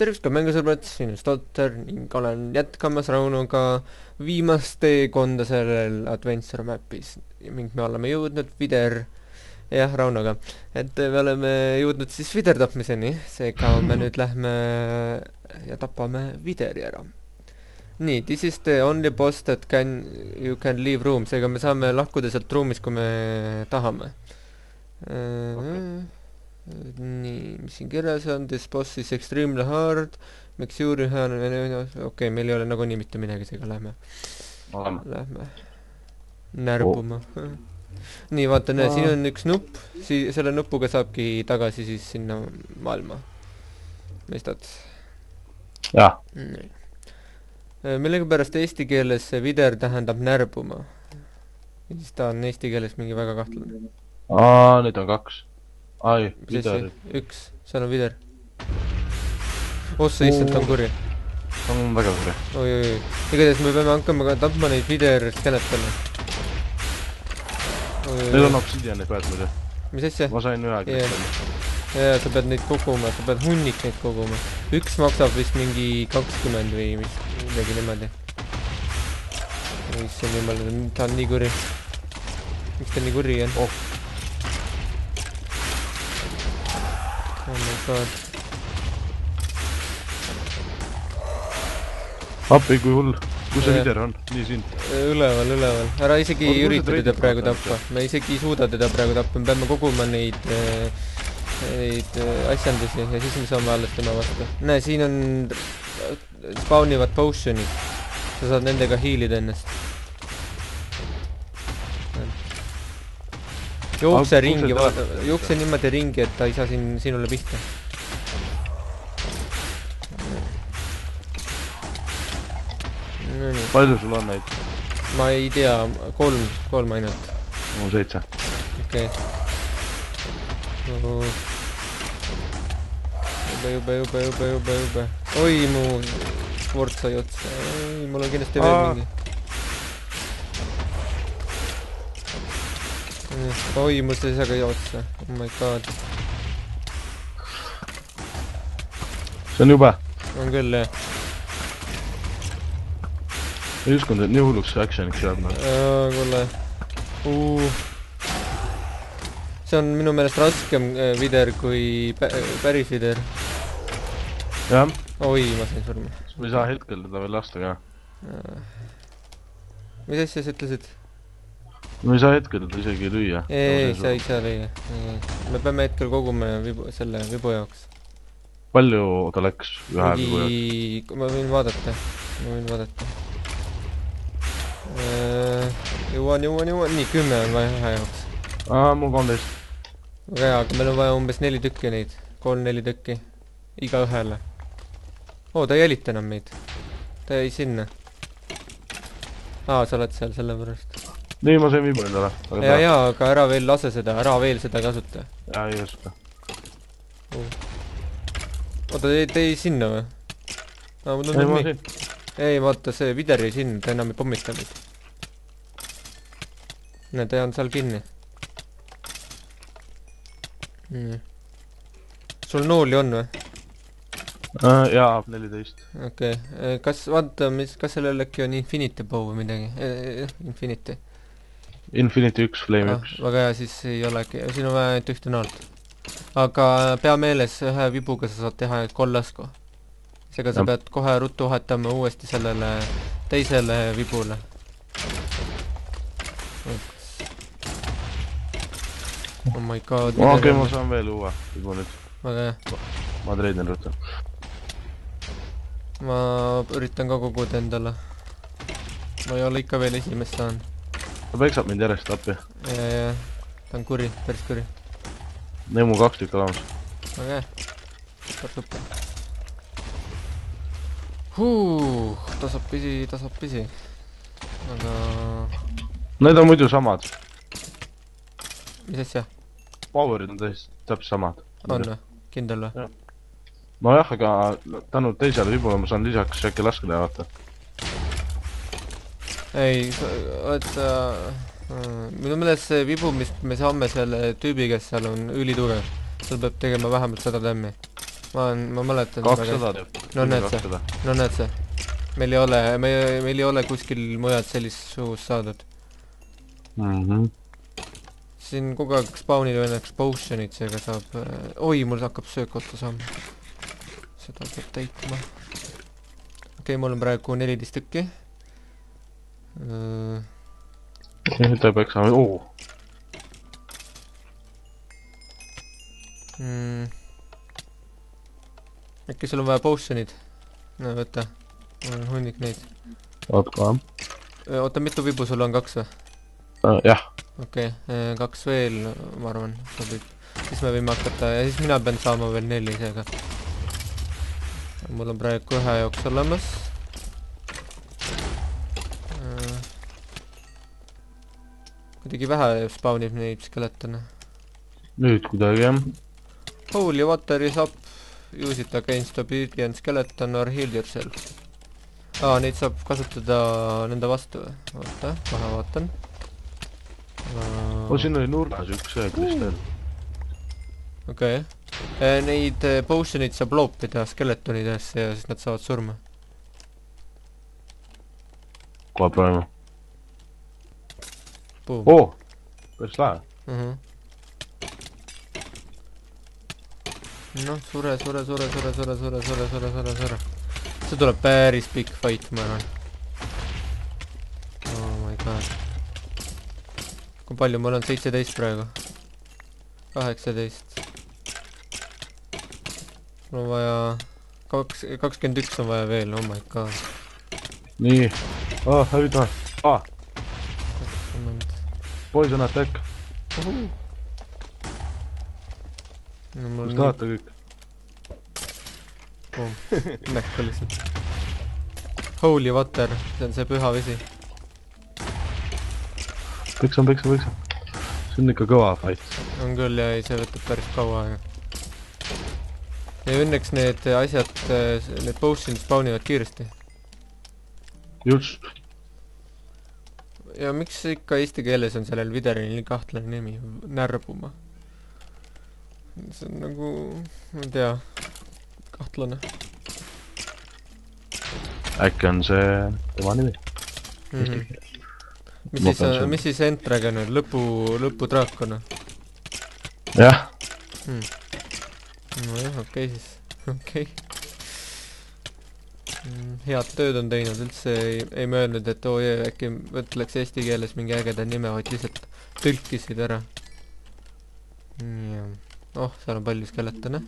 tervist ka mängusõbrad, siin on Stotter ning olen jätkamas Raunoga viimast teekonda sellel Adventure mapis ning me oleme jõudnud Raunoga, et me oleme jõudnud siis viderdapmiseni, seega me nüüd lähme ja tapame videri ära. Nii, this is the only boss that you can leave room, seega me saame lahkuda sealt ruumist, kui me tahame. Nii, mis siin kirjas on, this boss is extremely hard, make sure you have, okei, meil ei ole nagunii mitte midagi, seega lähme närbuma. Nii, vaata, näe, siin on üks nupp, selle nupuga saabki tagasi siis sinna maailma. Mõistad? Jah. Millega pärast eesti keeles see vider tähendab närbuma. Ja siis ta on eesti keeles mingi väga kahtlane. Nüüd on 2. Ai, vider. Üks, seal on vider. Ossa issand, ta on kuri. Ta on väga kuri. Oi. Igatahes me peame hakkama ka tapma neid vider-skeletele. Need on obsidianid väed muidu. Mis asja? Ma sain ühe ja sa pead neid koguma, sa pead hunnik neid koguma. Üks maksab vist mingi 20 või midagi niimoodi. Issand jumal, ta on nii kuri. Miks ta nii kuri on? Oh my god. Appi, kui hull. Kus see vider on? Nii siin. Üleval. Ära isegi ürita teda praegu tappa. Me isegi ei suuda teda praegu tappa. Me peame koguma neid asjandusi ja siis me saame alles tema vastu. Näe, siin on spawnivad potionid. Sa saad nendega hiilida ennast. Jookse niimoodi ringi, et ta ei saa sinule pihta. Palju sul on neid? Ma ei tea, 3 ainult. Mul 7. Okei. Jube. Oi, mu sport sai otsa. Mul on kindlasti veel mingi. Oi, mul see ka otsa. Oh my god. See on jube. On küll, jah. Ei uskunud, et nii hulluks see actioniks jääb. Kuule. See on minu meelest raskem vider kui päris vider. Jah. Oi, ma sain surma. Me ei saa hetkel teda veel lasta ka. Mis asja sa ütlesid? Me ei saa hetkel teda isegi lüüa. Ei, sa ei saa lüüa. Me peame hetkel koguma selle vibu jaoks. Palju ta läks ühe vibu jaoks? Ma võin vaadata. Jõuan. Nii, 10 on vaja ühe jaoks. Mul 13. Väga hea, aga meil on vaja umbes 4 tükki neid. 3-4 tükki. Iga ühele. Ta ei jälita enam meid. Ta jäi sinna. Sa oled seal selle pärast. Nii, ma sain viibu endale. Ja, aga ära veel lase seda. Ära veel seda kasuta. Ja, ei oska. Te ei sinna või? Ei, ma siin. Ei, vaata, see vider ei sinna, ta enam ei pommita meid. Näe, ta on seal kinni. Sul nooli on või? Jaa, 14. Okei, kas sellel äkki on Infinity bow või midagi? Infinity 1, Flame 1. Väga hea, siis ei olegi, siin on vaja ainult ühte naalt. Aga pea meeles, ühe vibuga sa saad teha kollasku. Seega sa pead kohe ruttu vahetama uuesti sellele teisele vibule. Oh my god. Okei, ma saan veel uue vibu nüüd. Väga hea. Ma treidin ruttu. Ma üritan ka koguda endale. Ma ei ole ikka veel esimest saan. Ta peksab mind järjest appi. Ja. Ta on kuri, päris kuri. Need mul 2 tükki olemas. Väga hea. Super. Tasab pisi. Aga... Need on muidu samad. Mis asja? Powerid on täpselt samad. On või? Kindel või? No jah, aga tänu teisele vibule ma saan lisaks äkki laskeda ja vaata. Ei, vaata... Minu meelest see vibu, mis me saame selle tüübi, kes seal on ülitugev. Seal peab tegema vähemalt 100 tämmi. ma mäletan 200 teeb. No näed sa. No näed sa. Meil ei ole kuskil mujalt sellist suust saadud. Siin kogu aeg spawnil õnneks potionid, seega saab... Oi, mul hakkab söök otsa saama. Seda peab täitma. Okei, mul on praegu 14 tükki. Ta peaks saama... Äkki sul on vaja potionid? No võta. Mul on hunnik neid. Oota, mitu vibu sul on? 2 või? Jah. Okei, 2 veel, ma arvan, sobib. Siis me võime hakata, ja siis mina pean saama veel 4 seega. Mul on praegu 1 jooks olemas. Kuidagi vähe spawnib neid skeletone. Nüüd kuidagi, jah. Holy water is up. Use it against obedient skeleton or heal yourself. Neid saab kasutada nende vastu. Oota, kohe vaatan. Siin oli nurgas üks kristal. Okei. Neid potionid saab loopida skeletonidesse ja siis nad saavad surma. Kohe praegu. Boom. Päris lahe. Noh, sure. See tuleb päris pikk fight, ma arvan. Oh my god. Kui palju mul on? 17 praegu. 18. Mul on vaja... 21 on vaja veel, oh my god. Nii. Hävida. Poison attack. Kus tahate kõik? Näkku lihtsalt. Holy water, see on see püha vesi. Peksa. See on ikka kõva fight. On küll ja see võtab päris kaua aega. Ja õnneks need asjad, need potionid spawnivad kiiresti. Just. Ja miks ikka eesti keeles on sellel videoril nii kahtlane nimi? Närbuma. See on nagu, ma ei tea, kahtlane. Äkki on see tema nimi? Mis siis Entragon on? Lõpudraakon? Jah. Nojah, okei siis. Okei. Head tööd on teinud, üldse ei möödnud, et äkki võtleks eesti keeles mingi ägeda nime, vaid lihtsalt tõlkisid ära. Seal on palju skeletone.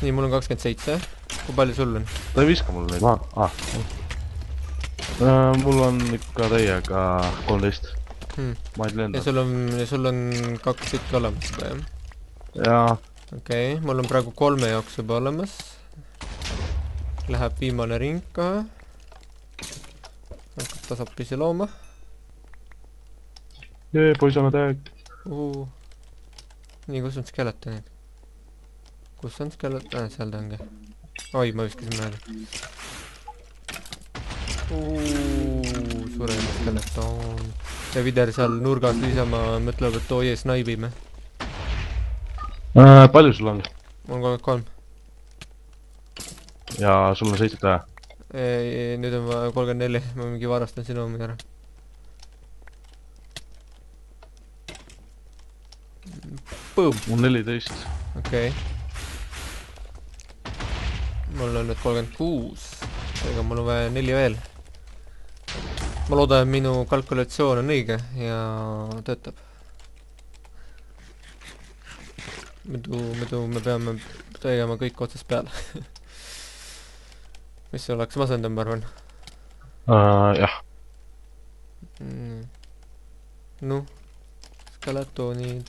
Nii, mul on 27. Kui palju sul on? Ta ei viska mul neid maha. Mul on ikka täiega 13. Ma ei lenda. Ja sul on 2 tükki olemas juba, jah? Jaa. Okei, mul on praegu 3 jooks juba olemas. Läheb viimane ring ka. Hakkab tasapisi looma. Poison attack. Nii, kus on skeletonid? Kus on skeleton? Seal ta ongi. Oi, ma viskasin mööda. Surema skeleton. Ja Vider seal nurgas lisama mõtleb, et oie snaibime. Palju sul on? Mul on 33. Ja sul on 7 tähe? Nüüd on 34. Ma mingi varastan sinu omi ära. Boom! Mul 14. Okei. Mul on nüüd 36. Seega mul on vaja 4 veel. Ma loodan, et minu kalkulatsioon on õige ja töötab. Muidu me peame tegema kõik otsast peale. Mis see oleks masendav, ma arvan? Jah. Noh, skeletonid.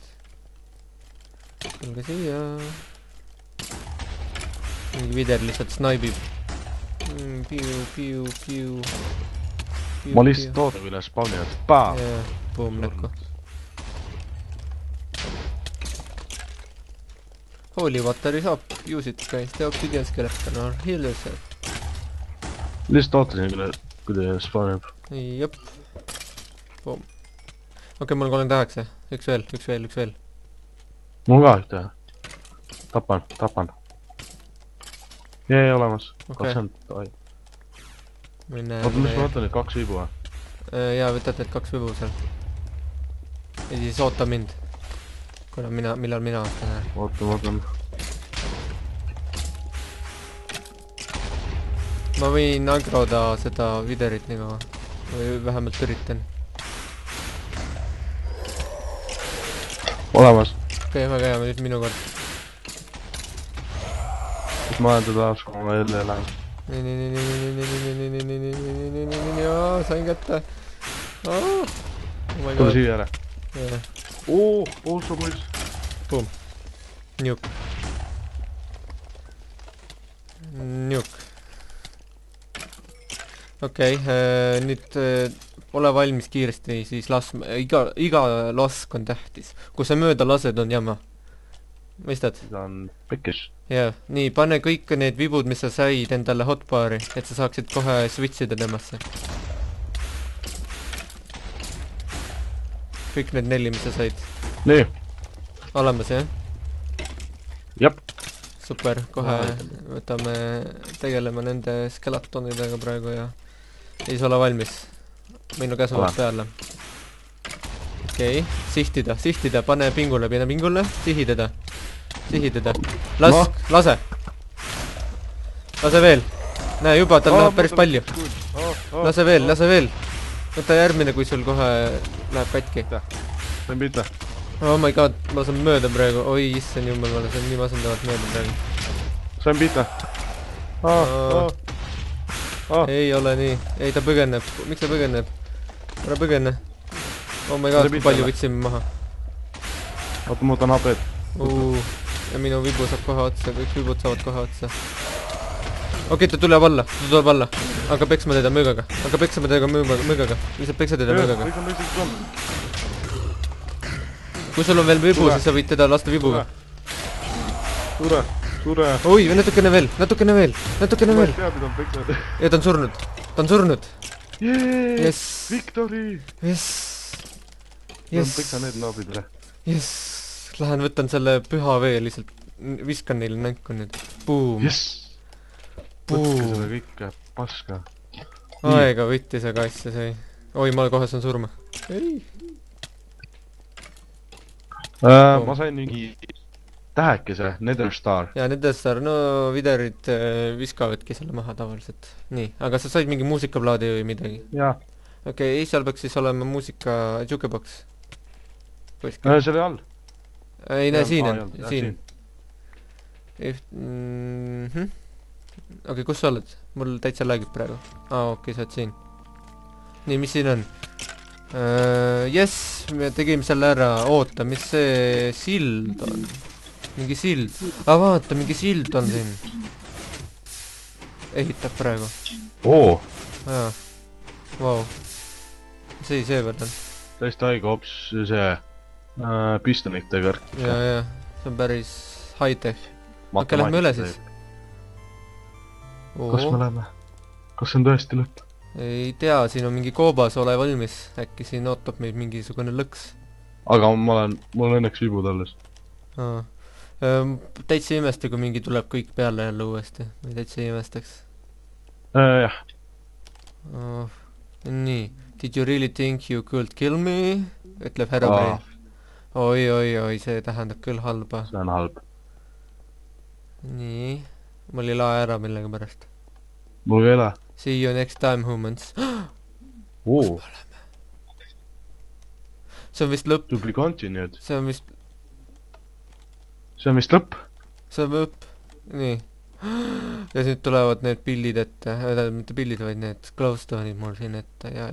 Tulge siia. Mingi Vider lihtsalt snaibib. Piu. Ma lihtsalt toodab üle spawnivad. Paa! Boom, näkku. Holy water is up. Use it against the obsidian skeleton or heal yourself. Lihtsalt ootasin, kui ta spawnib. Jop. Boom. Okei, mul on 38. Üks veel. mul ka ühte. Tapan. Jee, olemas. Okei. 20, oi. Mine... Oota, mis ma võtan nüüd 2 vibu, või? Jaa, võtad need 2 vibu seal. Ja siis oota mind. Kuna millal mina ostan. Ootan. Ma võin agroda seda viderit nii kaua. Või vähemalt üritan. Olemas. Okei, väga hea, nüüd minu kord. Kus ma olen teda kui ma jälle lähen. Nii, sain kätte. Oh my Tule god. siia ära. Sa poiss. Boom. Njuk. Okei, nüüd ole valmis kiiresti, siis iga lask on tähtis. Kui sa mööda lased, on jama. Mõistad? Ta on pekkis. Jah, nii, pane kõik need vibud, mis sa said endale hotbari, et sa saaksid kohe switchida temasse. Kõik need 4, mis sa said. Nii. Olemas, jah? Jep. Super, kohe võtame, tegeleme nende skeletonidega praegu ja siis ole valmis. Minu käsu peale. Okei, sihtida, pane pingule, sihi teda. Lase veel. Näe, juba, tal läheb päris palju. Lase veel. Võta järgmine, kui sul kohe läheb katki. Sain pihta. Oh my god, ma saan mööda praegu. Oi, issand jumal, ma saan nii masendavalt mööda praegu. Sain pihta. Ei ole nii. Ei, ta põgeneb. Miks ta põgeneb? Ära põgene. Oh my god, kui palju võtsime maha. Oota, ma võtan HP-d. Ja minu vibu saab kohe otsa, kõik vibud saavad kohe otsa. Okei, ta tuleb alla. Aga peksma teda mõõgaga. Lihtsalt peksa teda mõõgaga. Kui sul on veel vibu, siis sa võid teda lasta vibuga. Sure. Oi, natukene veel. Ja ta on surnud. Yes. Victory! Yes. Peksa need naabidele. Yes. Lähen võtan selle püha vee lihtsalt. Viskan neile nänku nüüd. Boom. Yes. Võtke seda kõike paska. Aega võttis, aga asja sai. Oi, ma kohe saan surma. Ei. Ma sain mingi tähekese, Netherstar. Ja Netherstar, no viderid viskavadki selle maha tavaliselt. Nii, aga sa said mingi muusikaplaadi või midagi? Jaa. Okei, seal peaks siis olema muusika jukebox. Selle all. Ei näe, siin on. Okei, kus sa oled? Mul täitsa lagib praegu. Okei, sa oled siin. Nii, mis siin on? Yes, me tegime selle ära. Oota, mis see sild on? Mingi sild. Vaata, mingi sild on siin. Ehitab praegu. Jaa. Vau. See seevõrd on. Täiesti haige hops see pistonite kõrk. Jaa. See on päris high-tech. Okei, lähme üle siis. Kas me läheme? Kas see on tõesti lõpp? Ei tea, siin on mingi koobas, ole valmis. Äkki siin ootab meid mingisugune lõks. Aga mul on õnneks vibud alles. Täitsa imeste, kui mingi tuleb kõik peale jälle uuesti. Või täitsa imestaks. Jah. Nii. Did you really think you could kill me? Ütleb Herobrine. Oi, see tähendab küll halba. See on halb. Nii. Mul ei lae ära millega pärast. Mul ei ole. See you next time, humans. See on vist lõpp. To be continued. See on vist lõpp. See on lõpp. Nii. Ja nüüd tulevad need pillid ette. Mitte pillid, vaid need glowstone'id mul siin ette. Ja,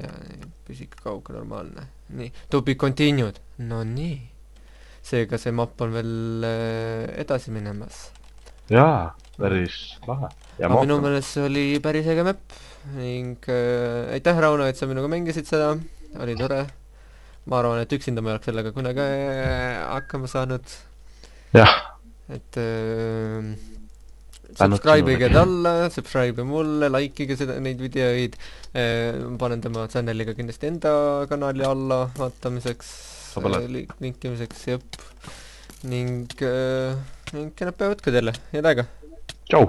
püsike kauge normaalne. Nii. To be continued. No nii. Seega see mapp on veel edasi minemas. Jaa, päris lahe. Minu meelest see oli päris äge map. Ning aitäh, Rauno, et sa minuga mängisid seda. Oli tore. Ma arvan, et üksinda ma ei oleks sellega kunagi hakkama saanud. Jah. Et subscribe'ige talle, subscribe mulle, likeige neid videoid. Panen tema channeliga kindlasti enda kanali alla vaatamiseks, linkimiseks, jõpp. ning kena päevat ka teile, head aega! tšau!